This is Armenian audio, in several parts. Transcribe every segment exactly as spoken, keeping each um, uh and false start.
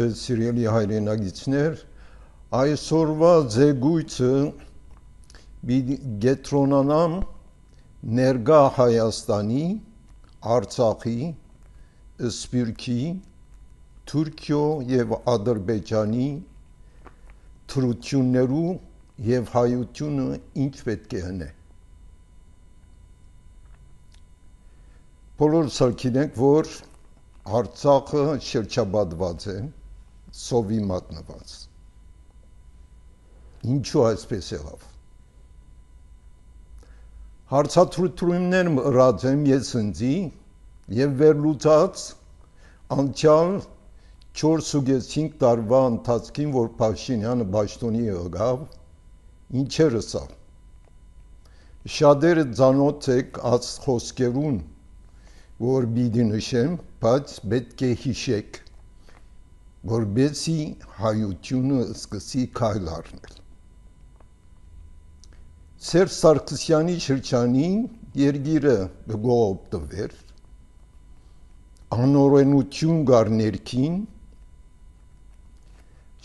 ձեզ սիրելի հայրենագիտներ, այսօրվա զեկույցը գետրոնանամ ներկա Հայաստանի, Արցախի, Սփյուռքի, Թուրքիո և Ադրբեջանի թրություններու և հայությունը ինչ պետք է հնե։ Բոլորս գիտենք, որ Արցախը շրջապատված է, սովի մատնված։ Ինչու այսպես եղավ։ Հարցադրություններ ըրած եմ ես ինձի և վերլուծած անցյալ չորսուկեսինգ տարվա ընթացքին, որ Փաշինյանը պաշտոնի եկավ, ինչեր ասավ։ Շատերը ծանոթ եք այս խոսքերուն, որ պիտի նշեմ, բայց պետք է հիշեք, որպեսզի հայությունը սկսի քայլ առնել։ Սերժ Սարգսյանի շրջանին երկիրը կողոպտվեր, անօրենություն կար ներքին,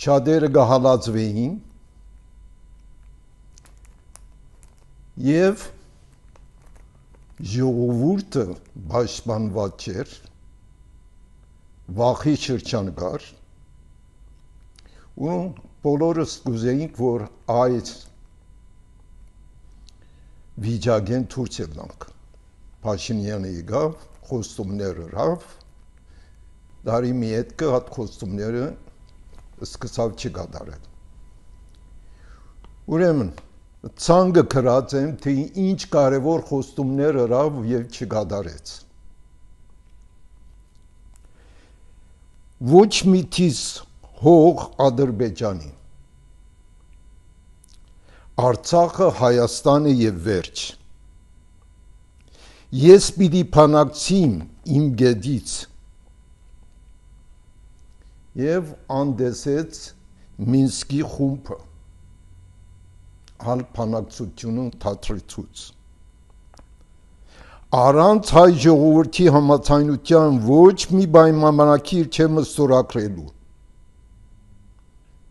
շատերը կհալածվեին և ժողովուրդը պաշտպանված չէր, վախի շրջան կար, ու բոլորս կուզեինք, որ այս վիճակեն դուրս ելանք։ Փաշինյանը եկավ, խոստումներ ըրավ, տարի մի հետքը այդ խոստումները սկսավ չկատարել։ Ուրեմն ցանկը գրած եմ, թե ինչ կարևոր խոստումներ ըրավ և չկատարեց։ Ոչ մի տիս հող Ադրբեջանի, Արցախը Հայաստանը և վերջ։ Ես պիտի բանակցիմ իմ գետից և անդեսեց Մինսկի խումբը, հալ բանակցությունը թատրեցուց։ Առանց հայ ժողովրդի համաձայնության ոչ մի պայմանագիր չեմ ստորագրելու։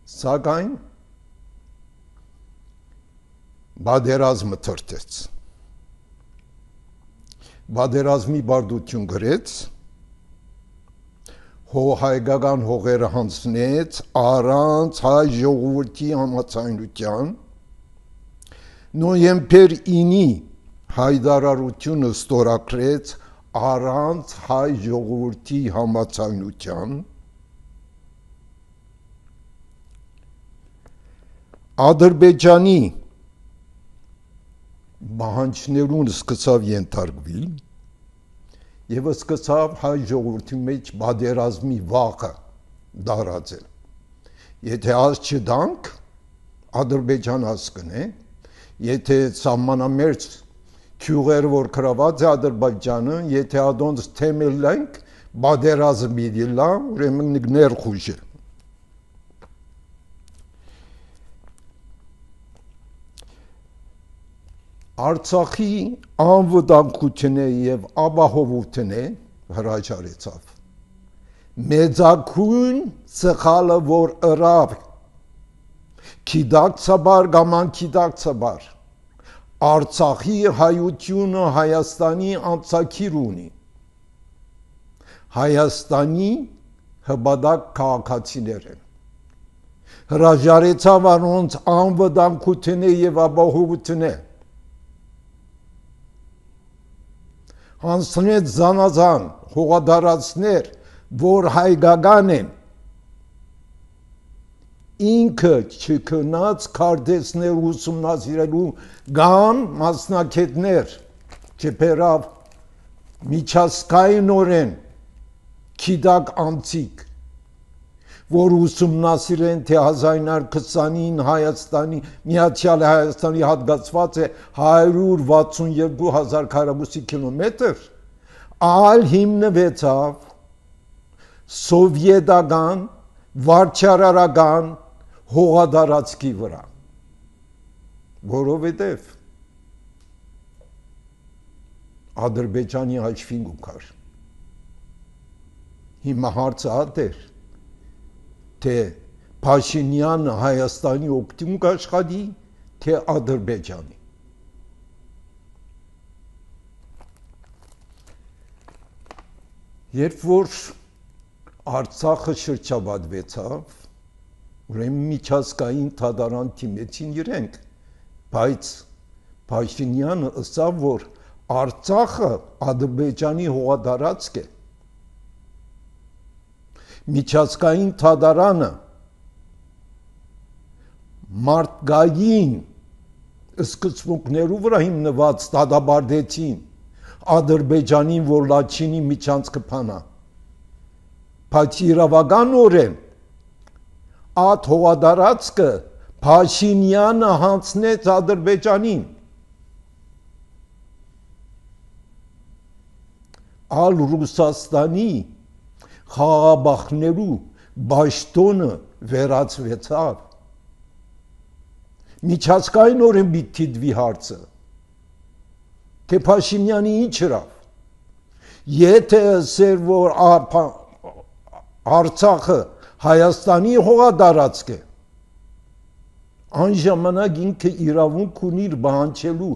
Սակայն պատերազմը թրթեց։ Պատերազմի պարտություն գրեց, հայկական հողերը հանձնեց առանց հայ ժողովրդի համաձայնության, նոյեմբեր ինի հայտարարությունը ստորագրեց առանց հայ ժողովրդի համաձայնության, Ադրբեջանի պահանջներուն սկսավ ենթարկվել և սկսավ հայ ժողովրդի մեջ պատերազմի վախը տարածել։ Եթե այս չտանք, Ադրբեջան հասկնե, եթե սահմանամերձ գյուղերը, որ գրաված է Ադրբեջանը, եթե ադոնց թեմելենք, պատերազմ պիտի լա, ուրեմն ներխուժ է։ Արցախի անվտանգությունը և ապահովությունը հրաժարեցավ։ Մեծագույն սխալը, որ ըրավ, գիտակցաբար կամ անգիտակցաբար, Արցախի հայությունը Հայաստանի անցագիր ունի։ Հայաստանի հպատակ քաղաքացիներ են։ Հրաժարեցավ անոնց անվտանգությունը և ապահովությունը։ Հանձնեց զանազան հողատարածքներ, որ հայկական են, ինքը չքնած քարտեզներ ուսումնասիրելու կամ մասնագետներ չբերավ միջազգայինորեն գիտակ անձիկ, որ ուսումնասիրեն, թե հազար ինը հարյուր քսանինը Հայաստանի, Միացյալ Հայաստանի հատկացված է հարյուր վաթսունյոթ հազար քառակուսի կիլոմետր, այլ հիմնվեցավ սովետական, վարչարարական հողատարածքի վրա, որովհետև Ադրբեջանի հաշվին կար։ Հիմա հարցը հատ էր, թե Փաշինյանը Հայաստանի օգտին կաշխատի, թե Ադրբեջանի։ Երբ որ Արցախը շրջապատվեցավ, ուրեմն միջազգային թադարան թիմեցին իրենք, բայց Փաշինյանը ասավ, որ Արցախը Ադրբեջանի հողատարածք է։ Միջազգային թադարանը մարդկային սկզբունքներու վրա հիմնված դատապարտեցին Ադրբեջանին, որ Լաչինի միջանցքը փանա, բայց իրավականորեն այդ հողատարածքը Փաշինյանը հանձնեց Ադրբեջանին։ Ալ Ռուսաստանի խաղաղաբախներու բաշտոնը վերածվեցավ։ Միջազգայինորեն պիտի դիտվի հարցը, թե Փաշինյանը ինչ հրավ։ Եթե ասեր, որ Արցախը Հայաստանի հողատարածք է, այն ժամանակ ինքը իրավունք ունի բանջելու,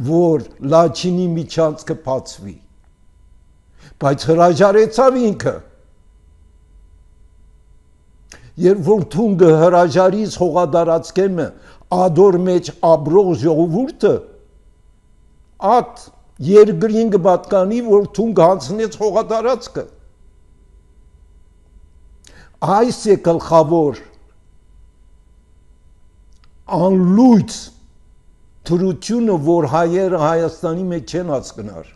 որ Լաչինի միջանցքը բացվի, բայց հրաժարեցավ ինքը։ Երբ որ թունգը հրաժարից հողատարածքեմը ադոր մեջ ապրող ժողովուրդը, այդ երկրին կպատկանի, որ թունգ հանձնեց հողատարածքը։ Այս է գլխավոր անլույծ թրությունը, որ հայերը Հայաստանի մեջ չեն հասկնար։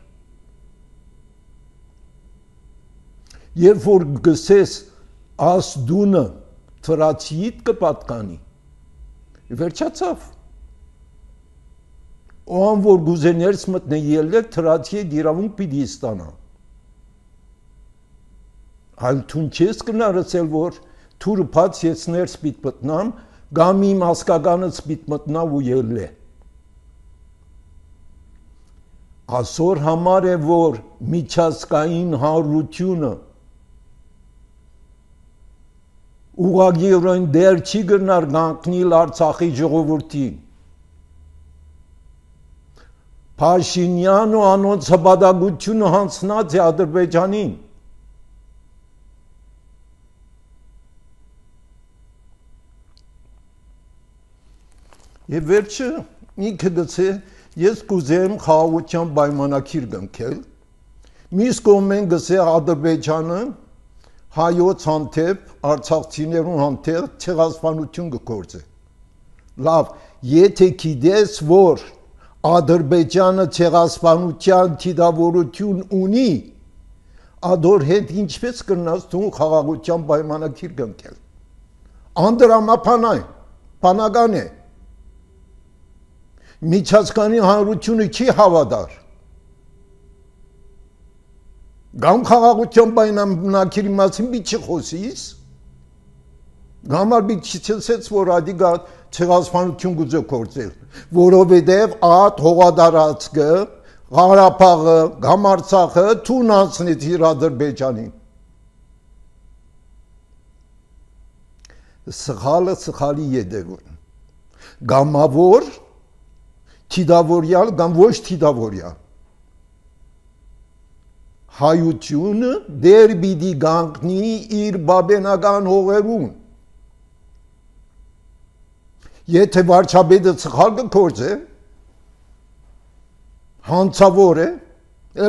Երբ որ գսես աս դունը թրացիիդ կպատկանի, վերջացավ։ Ան որ գուզե ներս մտնե ելեք, թրացի հետ իրավունք պիտի ստանա։ Այլ թուն չես կնար ասել, որ թուրը բաց ես ներս պիտ մտնամ, կամ իմ հասկականից պիտ մտնավ ու ելե։ Այսօր համար է, որ միջազգային հանրությունը ուղղակիորեն դեր չի գնար գանկնիլ Արցախի ժողովրդին։ Փաշինյանը անոնց հպատակությունը հանձնած է Ադրբեջանին։ Եվ վերջը ինքը գցե, ես կուզեմ խաղաղության պայմանագիր կնքել, մյուս կողմեն գցե Ադրբեջանը հայոց հանդեպ, արցախցիներուն հանդեպ ցեղասպանություն կգործե։ Լավ, եթե գիտես, որ Ադրբեջանը ցեղասպանության թիդավորություն ունի, ադոր հետ ինչպես կրնաս դու խաղաղության պայմանագիր կնքել։ Անդրամապանային, բանական է։ Միջազգային հանրությունը չի հավատար։ Գամ խաղաղության պայմանագիրի մասին պիտի խոսիս, գամար պիտի չասես, որ ադիգա ցեղասպանություն գուզե գործել, որովհետև այդ հողատարածքը, Ղարաբաղը, կամ Արցախը թուն անցնեց իր Ադրբեջանին։ Սխալը սխալի ետևն։ Գամավոր, թիդավորյալ, կամ ոչ թիդավորյալ։ Հայությունը դեր պիտի գանկնի իր բաբենական հողերուն։ Եթե վարչապետը սխալ կգործե, հանցավոր է,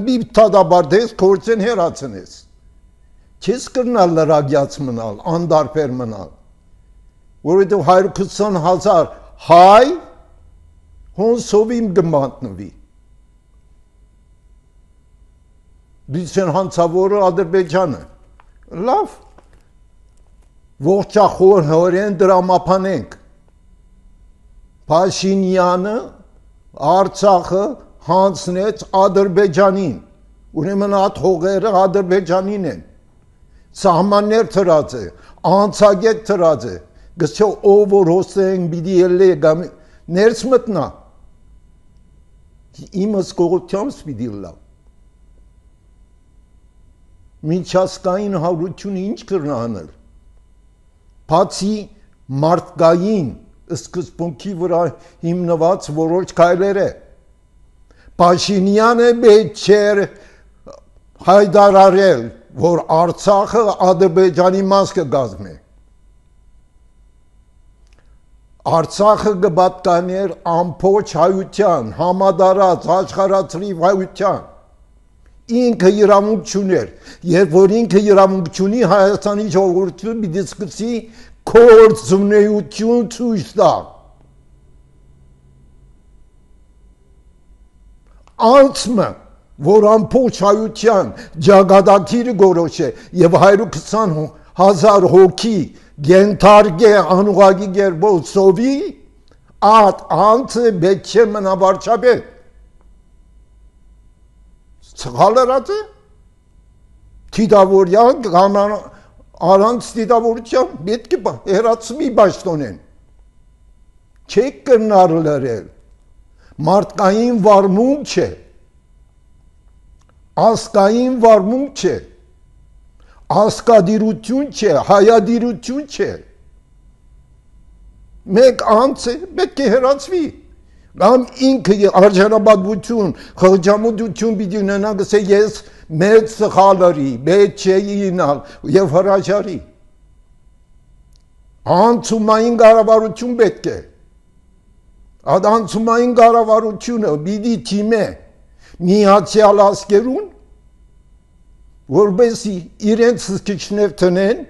մի դատապարտես, գործեն հեռացնես։ Չես կրնալ լրագյաց մնալ, անդարբեր մնալ, որովհետև հարյուր քսան հազար հայ հոնսովին կմատնվի։ Դիցեն հանցավորը Ադրբեջանը։ Լավ, ողջախոր հորեն դրամապանենք։ Փաշինյանը Արցախը հանձնեց Ադրբեջանին, ուրեմն այդ հողերը Ադրբեջանին են, սահմաններ թրած է, անցագետ թրած է, գսյո ով որ հոսեն բիդի ելե գամ ներս մտնա, իմս կողությամբ սպիդի լավ, միջազգային հանրությունը ինչ կրնա անել, բացի մարդկային սկզբունքի վրա հիմնված որոշ քայլեր է։ Փաշինյանը պետք չէր հայտարարել, որ Արցախը Ադրբեջանի մաս կգազմի։ Արցախը կպատկաներ ամբողջ հայության, համադարած աշխարհացրիվ հայության։ Ինքը իրավունք չուներ, երբ որ ինքը իրավունք չունի, Հայաստանի ժողովուրդը պիտի սկսի գործունեություն ցույց տա։ Անցմը, որ ամբողջ հայության ճակատագիրը գորոշ է եւ հարյուր քսան հազար հոգի գենթարգե անուղագի գերբով սովի, այդ անցը պետք չէ մնա վարչապետ։ Սխալերած է, թիդավորյան առանց թիդավորության պետք է հերացումի պաշտոնեն, չեք կրնար լրել, մարդկային վարմունք չէ, ասկային վարմունք չէ, ասկադիրություն չէ, հայադիրություն չէ, մեկ անց է, պետք է հերացվի, կամ ինքը արժանապատվություն, խղճամտություն պիտի ունենա, գսե ես մեծ սխալարի, պետք չէ ինալ եւ հրաժարի։ Անցումային կառավարություն պետք է։ Այդ անցումային կառավարությունը պիտի թիմե Միացյալ Ազգերուն, որպեսզի իրենց սկիչներ տնեն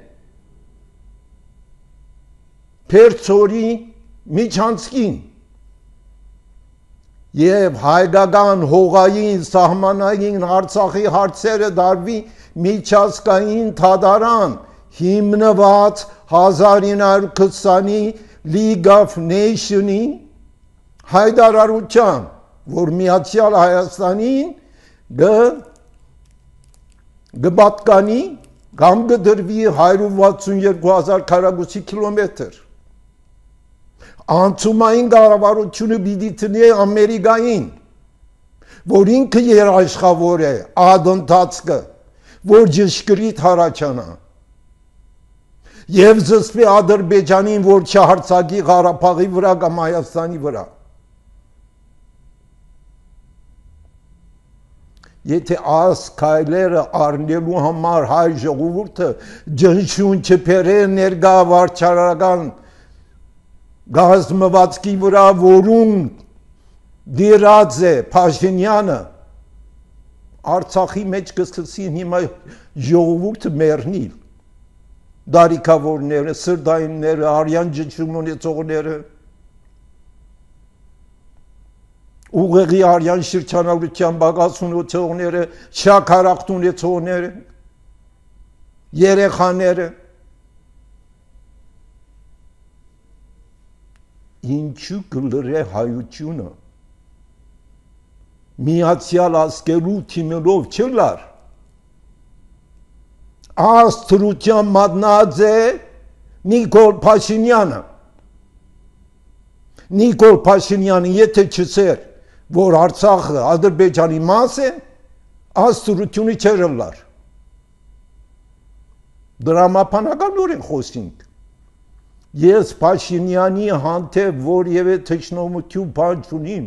Փերծորի միջանցքին եւ հայկական հողային սահմանային Արցախի հարցերը դարվի միջազգային թադարան հիմնված հազար ինը հարյուր քսանի League of Nations-ի հայտարարության, որ Միացյալ Հայաստանին կպատկանի կամ կդրվի հարյուր վաթսունյոթ հազար քառակուսի կիլոմետր։ Անցումային կառավարությունը պիտի տնի Ամերիկային, որ ինքը երաշխավոր է այդ ընթացքը, որ ճշգրիտ հառաջանա։ Եվ զսպի Ադրբեջանին, որ չհարձակի Ղարաբաղի վրա կամ Հայաստանի վրա։ Եթե այս քայլերը առնելու համար հայ ժողովուրդը ջնջուն չփերե ներկա վարչարարական գազմվածքի վրա, որում դիրած է Փաշինյանը, Արցախի մեջ կսկսին հիմա ժողովուրդը մեռնել, դարիքավորները, սրտայինները, արյան ջնջում ունեցողները, ուղեղի արյան շրջանառության բաղաց ունեցողները, շաքարախտ ունեցողները, երեխաները, ինչու կլրե հայությունը Միացյալ Ազգերու թիմերով չլար, աստրության մատնած է Նիկոլ Փաշինյանը։ Նիկոլ Փաշինյանը եթե չսեր, որ Արցախը Ադրբեջանի մաս է, աստրությունը չէր լար։ Դրամապանականորեն խոսինք։ Ես Փաշինյանի հանդեպ որևէ թշնամություն բան չունիմ։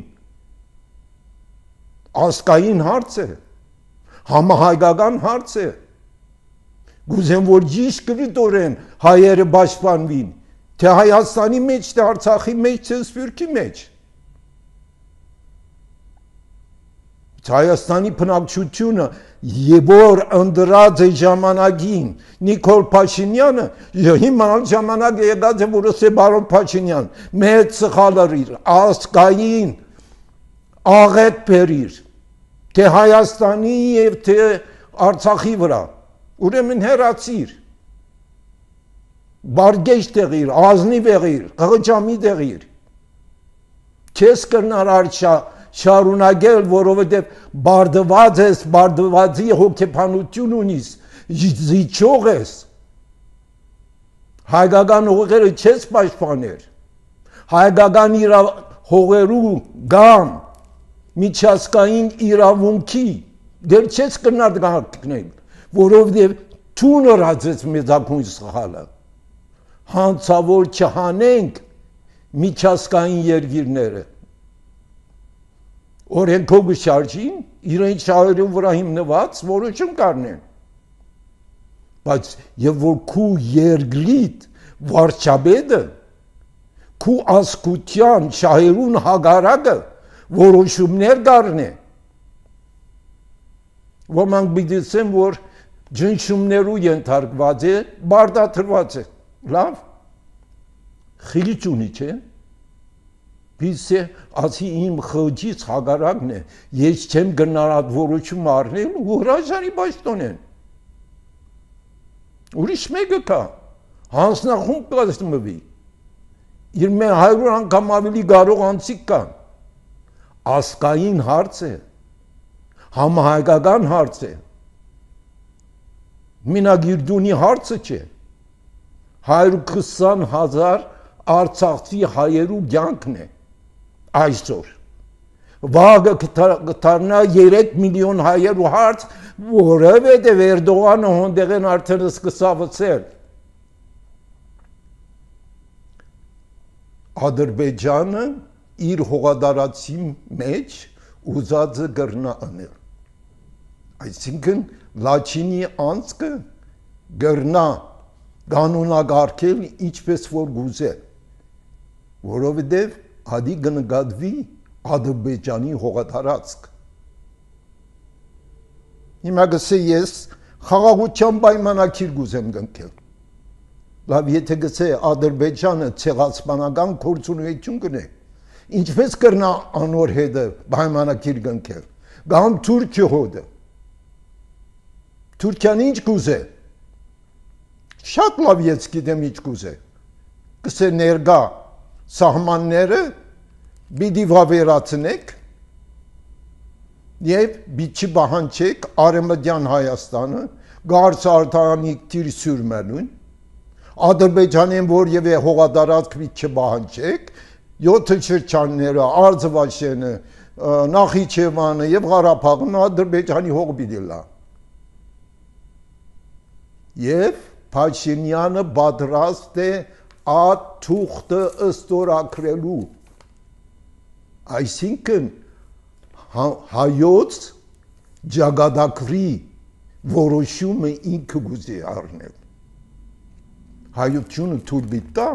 Ասկային հարց է, համահայկական հարց է։ Գուզեմ, որ ճիշտորեն հայերը պաշտպանվին, թե Հայաստանի մեջ, թե Արցախի մեջ, թե Սփյուռքի մեջ։ Հայաստանի բնակչությունը որ ընդրած է ժամանակին Նիկոլ Փաշինյանը, հիմա ժամանակ եկած է, որ ասե բարոն Փաշինյան, մեծ սխալարիր, ասկային աղետ բերիր, թե Հայաստանի և թե Արցախի վրա, ուրեմն հեռացիր, բարգեշ տեղիր, ազնիվ եղիր, ղղճամի տեղիր, չես կրնար արշա շարունակել, որովհետև բարդված ես, բարդվածի հոգեբանություն ունիս, զիջող ես, հայկական հողերը չես պաշտպաներ, հայկական հողերու գամ, միջազգային իրավունքի դեր չես կրնար գնել, որովհետև թունը ռացեց մեծակույն սխալը, հանցավոր չհանենք միջազգային երկիրները։ Օրենքով շարժին, իրենց շահերու վրա հիմնված որոշում կառնեն։ Բայց եւ որ քու երկրիդ վարչապետը քու ասկության շահերուն հագարակը որոշումներ կառնե, ոմանք բիդիսեն, որ ջնշումներու ենթարկված է, բարդաթրված է, լավ, խիլիչ ունի չէ, բիսե ասի իմ խղջից հագարակն է, ես չեմ գնար այդ որոշում առնել ու հրաժարի պաշտոնեն։ Ուրիշ մեկը կա, հանձնախումբ կազմվի, իր մեր հարյուր անգամ ավելի կարող անցիկ կան, ասկային հարց է, համահայկական հարց է, մինագիրդունի հարցը չէ, հարյուր քսան հազար արցախցի հայերու կյանքն է այսօր, վաղը կտարնա երեք միլիոն հայերու հարց, որովհետև Էրդողանը հոնդեղեն արդեն սկսավցել։ Ադրբեջանը իր հողադարացի մեջ ուզածը գրնա անել։ Այսինքն Լաչինի անցքը գրնա կանոնագարկել ինչպես որ գուզե, որովհետև ադի կնկատվի Ադրբեջանի հողատարածք։ Հիմա գսե ես խաղաղության պայմանագիր գուզեմ կնքել։ Լավ, եթե գսե Ադրբեջանը ցեղասպանական գործունեություն կնե, ինչպես կրնա անոր հետը պայմանագիր կնքել։ Կամ Թուրքիա հոդը։ Թուրքիան ինչ կուզե։ Շատ լավ ես գիտեմ ինչ կուզե։ Գսե ներկա սահմանները պիտի վավերացնեք եւ պիտի պահանջեք Արևմտյան Հայաստանը գարց արտանիկ տիր սյուրմենուն Ադրբեջանին որևէ հողատարածք պիտի չպահանջեք յոթ շրջանները Արցախը Նախիջևանը եւ Ղարաբաղն Ադրբեջանի հող պիտի լա եւ Փաշինյանը պատրաստ է այդ թուղթը ըստորագրելու այսինքն հայոց ճակատագրի որոշումը ինքը գուզի առնել հայությունը թույլ բիտա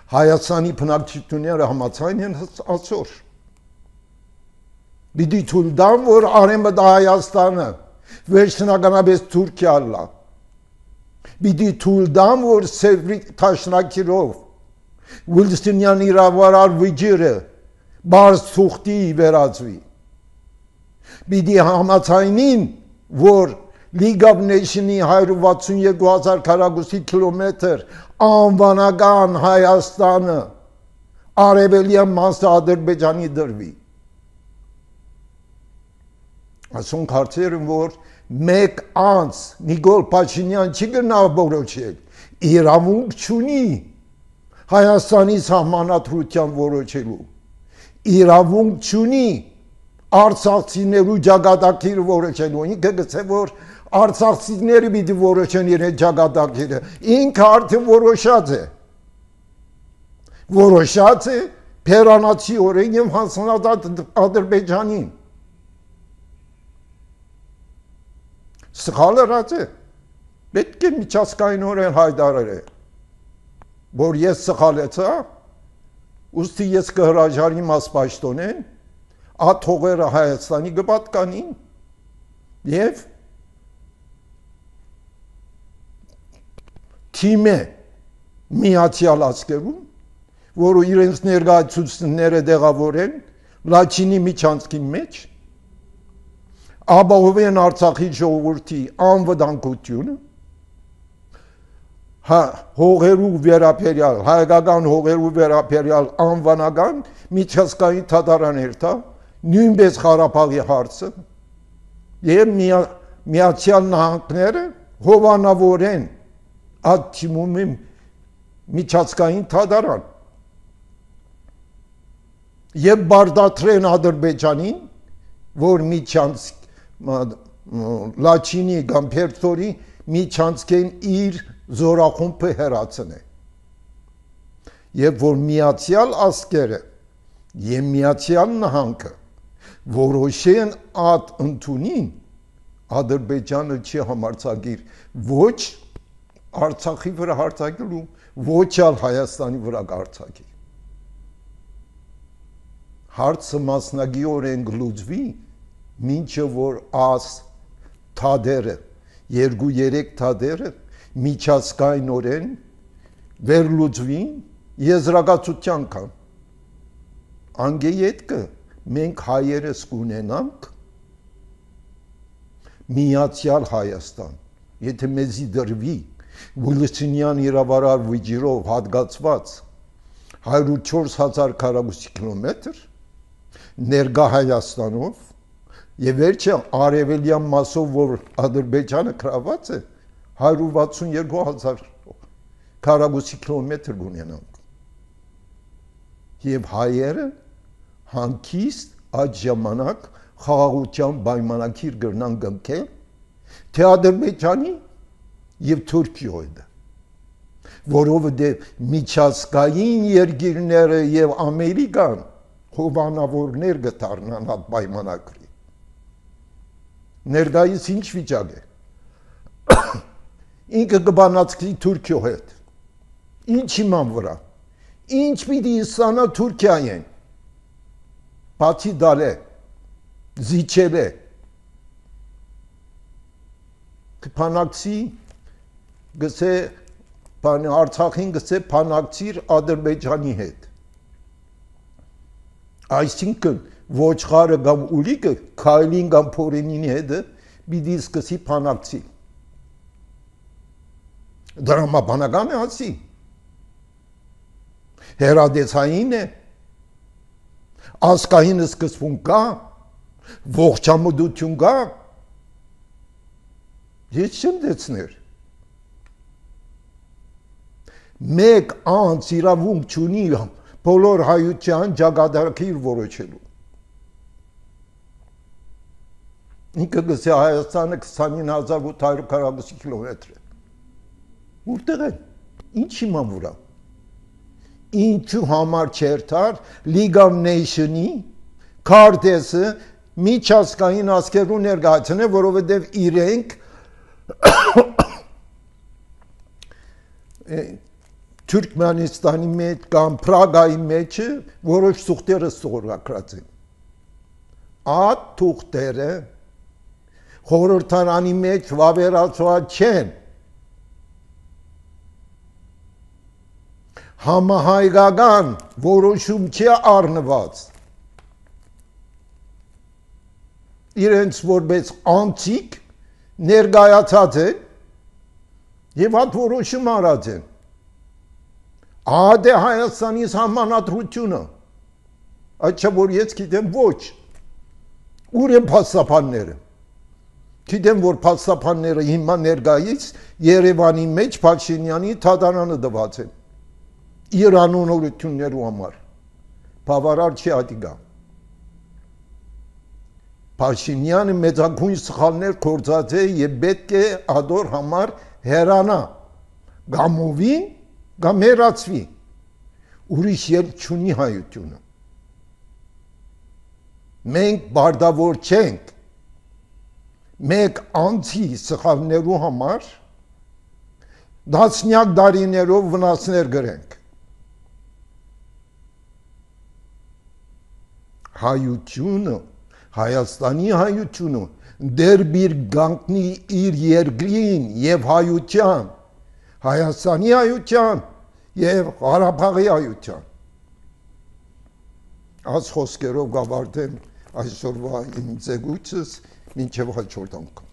Հայաստանի բնակչությունները համաձայն են այսօր պիտի թույլ տան որ Արևմտյան Հայաստանը վերջնականապես Թուրքիա լա պիտի թույլ տան որ Սևրի Տաշնակիրով Վիլստինյան իրավարար վիճիրը բարձ թուղթի վերածվի պիտի համաձայնին որ League of Nations-ի հարյուր վաթսունյոթ հազար քառակուսի կիլոմետր անվանական Հայաստանը արևելյան մասը Ադրբեջանի դրվի ասում կարծեր որ մեկ անց Նիկոլ Փաշինյան չի գնա որոշել իրավունք չունի Հայաստանի սահմանադրության որոշելու իրավունք չունի արցախցիներու ճակատագիրը որոշելու ինքը գցե որ արցախցիները պիտի որոշեն իրեն ճակատագիրը ինքը արդեն որոշած է որոշած է Փերանացի օրեն եւ հանձնած Ադրբեջանին սխալրած է պետք է միջազգայինորեն հայտարարել որ ես սխալեցա ուստի ես կհրաժարիմ ասպաշտոնեն այդ հողերը Հայաստանի կպատկանին եւ թիմը միացյալ ազգերում որը իրենց ներկայացուցիչները դեղավորեն Լաչինի միջանցքի մեջ ապահովեն Արցախի ժողովրդի անվտանգությունը հա հողերու վերապերյալ հայկական հողերու վերապերյալ անվանական միջազգային դատարաններ տա նույնպես Ղարաբաղի հարցը եւ Միացյալ Նահանգները հովանավորեն այդ թիմում միջազգային դատարան եւ բարդատրեն Ադրբեջանին որ միջանց Լաչինի կամ Փերթորի միջանցքեն իր զորախումբը հերացնե եւ որ Միացյալ Ազգերը եւ Միացյալ Նահանգը որոշեն ատ ընդունին Ադրբեջանը չի համարձակիր ոչ Արցախի վրա հարձակելու, ոչ էլ Հայաստանի վրա հարձակի։ Հարցը մասնագիտորեն գլուծվի, մինչև որ աս թադերը, երկու երեք թադերը միջազգայնորեն վերլուծվին եզրակացության կան։ Անգեյետկը մենք հայերս կունենանք Միացյալ Հայաստան, եթե մեզի դրվի Վուլսինյան իրավարար վիճիրով հատկացված հարյուր չորս հազար քառակուսի կիլոմետր ներկա Հայաստանով եւ վերջը արևելյան մասով որ Ադրբեջանը գրաված է հարյուր վաթսուն երկու հազար քառակուսի կիլոմետր ունենանք եւ հայերը հանկիստ այդ ժամանակ խաղաղության պայմանագիր կգրնան կնքել թե Ադրբեջանի եւ Թուրքիոյը որովհետեւ միջազգային երկիրները եւ Ամերիկան հովանավորներ կդառնան այդ պայմանագրի ներկայիս ինչ վիճակ է ինքը կբանացի Թուրքիո հետ ինչ իման վրա ինչ պիտի սանա Թուրքիային բացի դալե զիջել է կփանակցի գսե բան Արցախին գսե փանակցիր Ադրբեջանի հետ այսինքն ոչխարը կամ ուլիկը քայլին կամ փորենինի հետը պիտի սկսի փանակցի դրամաբանական է ասի հերադեսային է ասկային սկսվում կա ողջամուդություն կա ես չեմ դեցներ մեկ անց իրավունք չունի բոլոր հայության ճակատագիր որոշելու ինքը գսե Հայաստանը քսանինը հազար ութ հարյուր քառակուսի կիլոմետր է որտեղ է ինչ իման վրա ինչու համար չերթար League of Nations-ի քարտեզը միջազգային ազգերու ներկայացնե որովհետև իրենք Թուրքմենստանի մեջ կամ Պրագայի մեջ որոշ թուղթեր ստորագրած են այդ թուղթերը խորհրդարանի մեջ վավերացված չեն համահայկական որոշում չի առնված իրենց որպես անցիկ ներկայացած են եւ այդ որոշում արած են ադե Հայաստանի համանadrությունը այդ չէ որ ես գիտեմ ոչ ուր են փաստաբանները գիտեմ որ փաստաբանները հիմա ներկայից Երևանի մեջ Փաշինյանի թադարանը դված են Իրանուն օրություններու համար բավարար չի ադիգա Փաշինյանը մեծագույն սխալներ կործած է եւ պետք է ադոր համար հերանա գամովին կամ հերացվի ուրիշ ելք չունի հայությունը մենք բարդավոր չենք մեկ անցի սխալներու համար դասնյակ դարիներով վնասներ գրենք հայությունը Հայաստանի հայությունը դեր բիր գանքնի իր երկրին եւ հայության Հայաստանի հայության եւ Ղարաբաղի հայության այս խոսքերով գավարտեմ այսօրվա իմ զեկույցս մինչեւ հաջորդ անգամ